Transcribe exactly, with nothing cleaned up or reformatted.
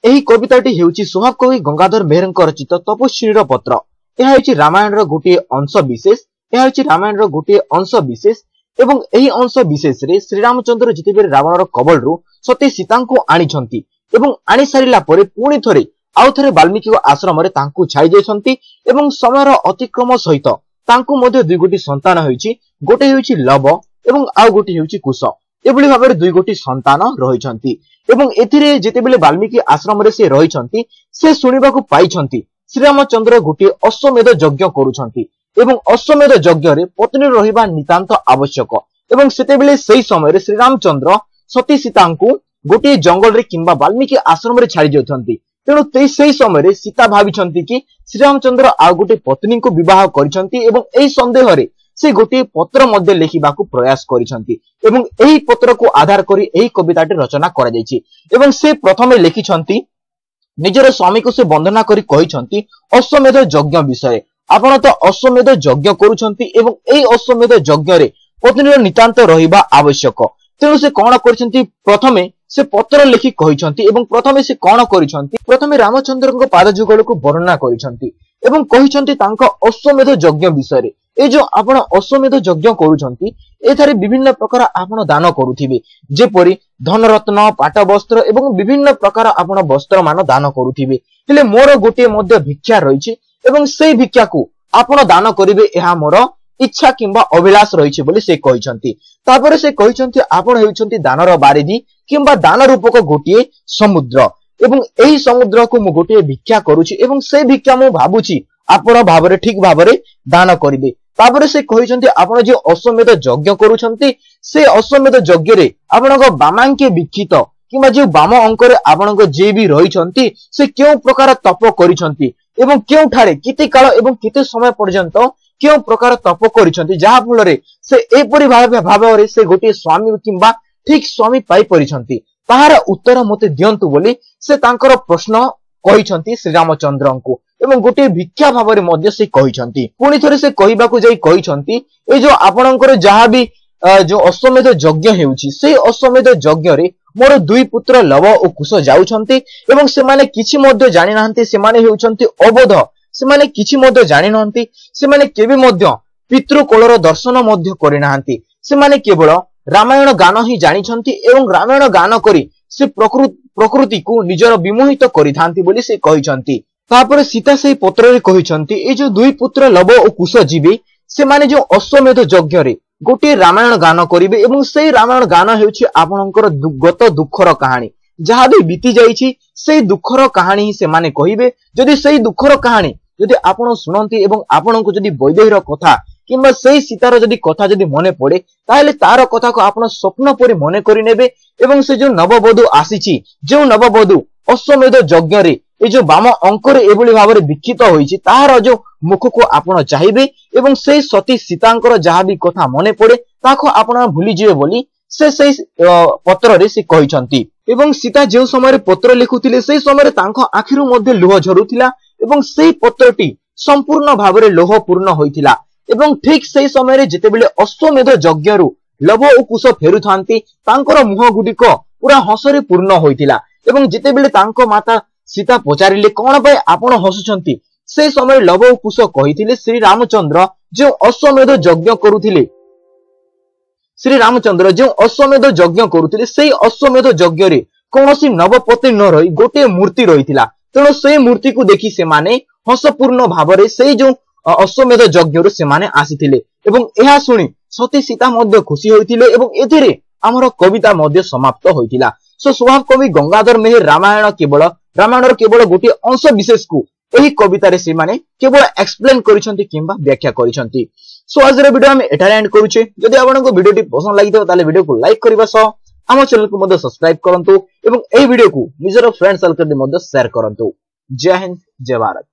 ଏହି କବିତାଟି ହେଉଛି ସ୍ୱଭାବ କବି ଗଙ୍ଗାଧର ମେହେରଙ୍କ ରଚିତ ତପସ୍ୱିନୀର ପତ୍ର। ଏହା ହେଉଛି ରାମାୟଣର ଗୋଟିଏ ଅଂଶ ବିଶେଷ। ଏହା ହେଉଛି ରାମାୟଣର ଗୋଟିଏ ଅଂଶ ବିଶେଷ ଏବଂ ଏହି ଅଂଶ ବିଶେଷରେ ଶ୍ରୀରାମଚନ୍ଦ୍ର ଯେତେବେଳେ ରାବଣର କବଳରୁ ସତୀ ସୀତାଙ୍କୁ ଆଣିଛନ୍ତି ଏବଂ ଆଣି ସାରିଲା ପରେ ପୁଣି ଥରେ ଆଉ ଥରେ ବାଲ୍ମୀକି ଆଶ୍ରମରେ ତାଙ୍କୁ ଛାଡ଼ି ଯାଇଛନ୍ତି ଏବଂ ସମୟର ଅତିକ୍ରମ ସହିତ ତାଙ୍କୁ ମଧ୍ୟ ଦୁଇ ଗୋଟି ସନ୍ତାନ ହୋଇଛି। ଗୋଟେ ହେଉଛି ଲବ ଏବଂ ଆଉ ଗୋଟେ ହେଉଛି କୁଶ। ଏଭଳି ଭାବରେ ଦୁଇ ଗୋଟି ସନ୍ତାନ ରହିଛନ୍ତି ଏବଂ ଏଥିରେ ଯେତେବେଳେ ବାଲ୍ମୀକି ଆଶ୍ରମରେ ସେ ରହିଛନ୍ତି, ସେ ଶୁଣିବାକୁ ପାଇଛନ୍ତି ଶ୍ରୀରାମଚନ୍ଦ୍ର ଗୋଟିଏ ଅଶ୍ୱମେଧ ଯଜ୍ଞ କରୁଛନ୍ତି ଏବଂ ଅଶ୍ୱମେଧ ଯଜ୍ଞରେ ପତ୍ନୀ ରହିବା ନିତାନ୍ତ ଆବଶ୍ୟକ। ଏବଂ ସେତେବେଳେ ସେଇ ସମୟରେ ଶ୍ରୀରାମଚନ୍ଦ୍ର ସତୀ ସୀତାଙ୍କୁ ଗୋଟିଏ ଜଙ୍ଗଲରେ କିମ୍ବା ବାଲ୍ମୀକି ଆଶ୍ରମରେ ଛାଡି ଯାଉଛନ୍ତି। ତେଣୁ ସେଇ ସମୟରେ ସୀତା ଭାବିଛନ୍ତି କି ଶ୍ରୀରାମଚନ୍ଦ୍ର ଆଉ ଗୋଟେ ପତ୍ନୀଙ୍କୁ ବିବାହ କରିଛନ୍ତି ଏବଂ ଏହି ସନ୍ଦେହରେ ସେ ଗୋଟିଏ ପତ୍ର ମଧ୍ୟ ଲେଖିବାକୁ ପ୍ରୟାସ କରିଛନ୍ତି ଏବଂ ଏହି ପତ୍ରକୁ ଆଧାର କରି ଏହି କବିତାଟି ରଚନା କରାଯାଇଛି। ଏବଂ ସେ ପ୍ରଥମେ ଲେଖିଛନ୍ତି, ନିଜର ସ୍ୱାମୀକୁ ସେ ବନ୍ଦନା କରି କହିଛନ୍ତି ଅଶ୍ୱମେଧ ଯଜ୍ଞ ବିଷୟରେ। ଆପଣ ତ ଅଶ୍ୱମେଧ ଯଜ୍ଞ କରୁଛନ୍ତି ଏବଂ ଏଇ ଅଶ୍ୱମେଧ ଯଜ୍ଞରେ ପତ୍ନୀର ନିତାନ୍ତ ରହିବା ଆବଶ୍ୟକ। ତେଣୁ ସେ କଣ କରିଛନ୍ତି? ପ୍ରଥମେ ସେ ପତ୍ର ଲେଖି କହିଛନ୍ତି ଏବଂ ପ୍ରଥମେ ସେ କଣ କରିଛନ୍ତି? ପ୍ରଥମେ ରାମଚନ୍ଦ୍ରଙ୍କ ପାଦ ଯୁଗଳକୁ ବର୍ଣ୍ଣନା କରିଛନ୍ତି ଏବଂ କହିଛନ୍ତି ତାଙ୍କ ଅଶ୍ୱମେଧ ଯଜ୍ଞ ବିଷୟରେ। ଏ ଯୋଉ ଆପଣ ଅଶ୍ୱମେଧ ଯଜ୍ଞ କରୁଛନ୍ତି, ଏଠାରେ ବିଭିନ୍ନ ପ୍ରକାର ଆପଣ ଦାନ କରୁଥିବେ, ଯେପରି ଧନରତ୍ନ, ପାଟ ବସ୍ତ୍ର ଏବଂ ବିଭିନ୍ନ ପ୍ରକାର ଆପଣ ବସ୍ତ୍ର ମାନ ଦାନ କରୁଥିବେ। ହେଲେ ମୋର ଗୋଟିଏ ମଧ୍ୟ ଭିକ୍ଷା ରହିଛି ଏବଂ ସେଇ ଭିକ୍ଷାକୁ ଆପଣ ଦାନ କରିବେ, ଏହା ମୋର ଇଚ୍ଛା କିମ୍ବା ଅଭିଳାଷ ରହିଛି ବୋଲି ସେ କହିଛନ୍ତି। ତାପରେ ସେ କହିଛନ୍ତି, ଆପଣ ହେଉଛନ୍ତି ଦାନର ବାରିଧି କିମ୍ବା ଦାନ ରୂପକ ଗୋଟିଏ ସମୁଦ୍ର ଏବଂ ଏହି ସମୁଦ୍ରକୁ ମୁଁ ଗୋଟିଏ ଭିକ୍ଷା କରୁଛି ଏବଂ ସେଇ ଭିକ୍ଷା ମୁଁ ଭାବୁଛି ଆପଣ ଭାବରେ ଠିକ ଭାବରେ ଦାନ କରିବେ। ତାପରେ ସେ କହିଛନ୍ତି, ଆପଣ ଯେଉଁ ଅଶ୍ୱମେଧ ଯଜ୍ଞ କରୁଛନ୍ତି, ସେ ଅଶ୍ୱମେଧ ଯଜ୍ଞରେ ଆପଣଙ୍କ ବାମାଙ୍କେ ବିକ୍ଷିତ କିମ୍ବା ଯେଉଁ ବାମ ଅଙ୍କରେ ଆପଣଙ୍କ ଯିଏ ବି ରହିଛନ୍ତି, ସେ କେଉଁ ପ୍ରକାର ତପ କରିଛନ୍ତି ଏବଂ କେଉଁଠାରେ କେତେ କାଳ ଏବଂ କେତେ ସମୟ ପର୍ଯ୍ୟନ୍ତ କେଉଁ ପ୍ରକାର ତପ କରିଛନ୍ତି, ଯାହା ଫଳରେ ସେ ଏପରି ଭାବେ ଭାବରେ ସେ ଗୋଟିଏ ସ୍ୱାମୀ କିମ୍ବା ଠିକ ସ୍ୱାମୀ ପାଇପାରିଛନ୍ତି, ତାହାର ଉତ୍ତର ମତେ ଦିଅନ୍ତୁ ବୋଲି ସେ ତାଙ୍କର ପ୍ରଶ୍ନ କହିଛନ୍ତି ଶ୍ରୀରାମଚନ୍ଦ୍ରଙ୍କୁ ଏବଂ ଗୋଟିଏ ଭିକ୍ଷା ଭାବରେ ମଧ୍ୟ ସେ କହିଛନ୍ତି। ପୁଣି ଥରେ ସେ କହିବାକୁ ଯାଇ କହିଛନ୍ତି, ଏଇ ଯୋଉ ଆପଣଙ୍କର ଯାହା ବି ଯୋଉ ଅଶ୍ୱମେଧ ଯଜ୍ଞ ହେଉଛି, ସେଇ ଅଶ୍ୱମେଧ ଯଜ୍ଞରେ ମୋର ଦୁଇ ପୁତ୍ର ଲବ ଓ କୁଶ ଯାଉଛନ୍ତି ଏବଂ ସେମାନେ କିଛି ମଧ୍ୟ ଜାଣିନାହାନ୍ତି। ସେମାନେ ହେଉଛନ୍ତି ଅବୋଧ, ସେମାନେ କିଛି ମଧ୍ୟ ଜାଣିନାହାନ୍ତି। ସେମାନେ କେବେ ମଧ୍ୟ ପିତୃକୋଳର ଦର୍ଶନ ମଧ୍ୟ କରିନାହାନ୍ତି। ସେମାନେ କେବଳ ରାମାୟଣ ଗାନ ହିଁ ଜାଣିଛନ୍ତି ଏବଂ ରାମାୟଣ ଗାନ କରି ସେ ପ୍ରକୃତିକୁ ନିଜର ବିମୋହିତ କରିଥାନ୍ତି ବୋଲି ସେ କହିଛନ୍ତି। ତାପରେ ସୀତା ସେଇ ପତ୍ରରେ କହିଛନ୍ତି, ଏଇ ଯୋଉ ଦୁଇ ପୁତ୍ର ଲବ ଓ କୁଶ ଯିବେ, ସେମାନେ ଯୋଉ ଅଶ୍ୱମେଧ ଯଜ୍ଞରେ ଗୋଟିଏ ରାମାୟଣ ଗାନ କରିବେ ଏବଂ ସେଇ ରାମାୟଣ ଗାନ ହେଉଛି ଆପଣଙ୍କର ଗତ ଦୁଃଖର କାହାଣୀ, ଯାହା ବି ବିତି ଯାଇଛି ସେଇ ଦୁଃଖର କାହାଣୀ ହିଁ ସେମାନେ କହିବେ। ଯଦି ସେଇ ଦୁଃଖର କାହାଣୀ ଯଦି ଆପଣ ଶୁଣନ୍ତି ଏବଂ ଆପଣଙ୍କୁ ଯଦି ବୈଦେହୀର କଥା କିମ୍ବା ସେଇ ସୀତାର ଯଦି କଥା ଯଦି ମନେ ପଡେ, ତାହେଲେ ତାର କଥାକୁ ଆପଣ ସ୍ୱପ୍ନ ପରି ମନେ କରିନେବେ ଏବଂ ସେ ଯୋଉ ନବବଧୂ ଆସିଛି, ଯେଉଁ ନବବଧୂ ଅଶ୍ୱମେଧ ଯଜ୍ଞରେ ଏ ଯୋଉ ବାମ ଅଙ୍କରେ ଏଭଳି ଭାବରେ ବିକ୍ଷିତ ହୋଇଛି, ତାହାର ଯୋଉ ମୁଖକୁ ଆପଣ ଚାହିଁବେ ଏବଂ ସେଇ ସତୀ ସୀତାଙ୍କର ଯାହା ବି କଥା ମନେ ପଡେ ତାକୁ ଆପଣ ଭୁଲିଯିବେ ବୋଲି ସେ ସେଇ ପତ୍ରରେ ସେ କହିଛନ୍ତି। ଏବଂ ସୀତା ଯେଉଁ ସମୟରେ ପତ୍ର ଲେଖୁଥିଲେ, ସେଇ ସମୟରେ ତାଙ୍କ ଆଖିରୁ ମଧ୍ୟ ଲୁହ ଝରୁଥିଲା ଏବଂ ସେଇ ପତ୍ରଟି ସମ୍ପୂର୍ଣ୍ଣ ଭାବରେ ଲୋହ ପୂର୍ଣ୍ଣ ହୋଇଥିଲା। ଏବଂ ଠିକ ସେଇ ସମୟରେ ଯେତେବେଳେ ଅଶ୍ୱମେଧ ଯଜ୍ଞରୁ ଲବ ଓ କୁଶ ଫେରୁଥାନ୍ତି, ତାଙ୍କର ମୁହଁ ଗୁଡିକ ପୁରା ହସରେ ପୂର୍ଣ୍ଣ ହୋଇଥିଲା। ଏବଂ ଯେତେବେଳେ ତାଙ୍କ ମାତା ସୀତା ପଚାରିଲେ, କଣ ପାଇଁ ଆପଣ ହସୁଛନ୍ତି, ସେ ସମୟରେ ଲବ ଓ କୁଶ କହିଥିଲେ, ଶ୍ରୀ ରାମଚନ୍ଦ୍ର ଯେଉଁ ଅଶ୍ୱମେଧ ଯଜ୍ଞ କରୁଥିଲେ, ଶ୍ରୀ ରାମଚନ୍ଦ୍ର ଯେଉଁ ଅଶ୍ୱମେଧ ଯଜ୍ଞ କରୁଥିଲେ, ସେଇ ଅଶ୍ୱମେଧ ଯଜ୍ଞରେ କୌଣସି ନବପତ୍ନୀ ନ ରହି ଗୋଟିଏ ମୂର୍ତ୍ତି ରହିଥିଲା। ତେଣୁ ସେଇ ମୂର୍ତ୍ତିକୁ ଦେଖି ସେମାନେ ହସପୂର୍ଣ୍ଣ ଭାବରେ ସେଇ ଯୋଉ ଅଶ୍ୱମେଧ ଯଜ୍ଞରୁ ସେମାନେ ଆସିଥିଲେ ଏବଂ ଏହା ଶୁଣି ସତୀ ସୀତା ମଧ୍ୟ ଖୁସି ହୋଇଥିଲେ ଏବଂ ଏଥିରେ ଆମର କବିତା ମଧ୍ୟ ସମାପ୍ତ ହୋଇଥିଲା। ସୋ ସ୍ୱଭାବ କବି ଗଙ୍ଗାଧର ମେହେର ରାମାୟଣ କେବଳ ରାମାୟଣର କେବଳ ଗୋଟିଏ ଅଂଶ ବିଶେଷକୁ ଏହି କବିତାରେ ସେମାନେ କେବଳ ଏକ୍ସପ୍ଲେନ କରିଛନ୍ତି କିମ୍ବା ବ୍ୟାଖ୍ୟା କରିଛନ୍ତି। ସୋ ଆଜିର ଭିଡିଓ ଆମେ ଏଠାରେ ଏଣ୍ଡ କରୁଛେ। ଯଦି ଆପଣଙ୍କୁ ଭିଡିଓଟି ପସନ୍ଦ ଲାଗିଥିବ, ତାହେଲେ ଭିଡିଓକୁ ଲାଇକ୍ କରିବା ସହ ଆମ ଚ୍ୟାନେଲକୁ ମଧ୍ୟ ସବସ୍କ୍ରାଇବ କରନ୍ତୁ ଏବଂ ଏହି ଭିଡିଓକୁ ନିଜର ଫ୍ରେଣ୍ଡ ସର୍କଲରେ ମଧ୍ୟ ସେୟାର କରନ୍ତୁ। ଜୟ ହିନ୍ଦ, ଜୟ ଭାରତ।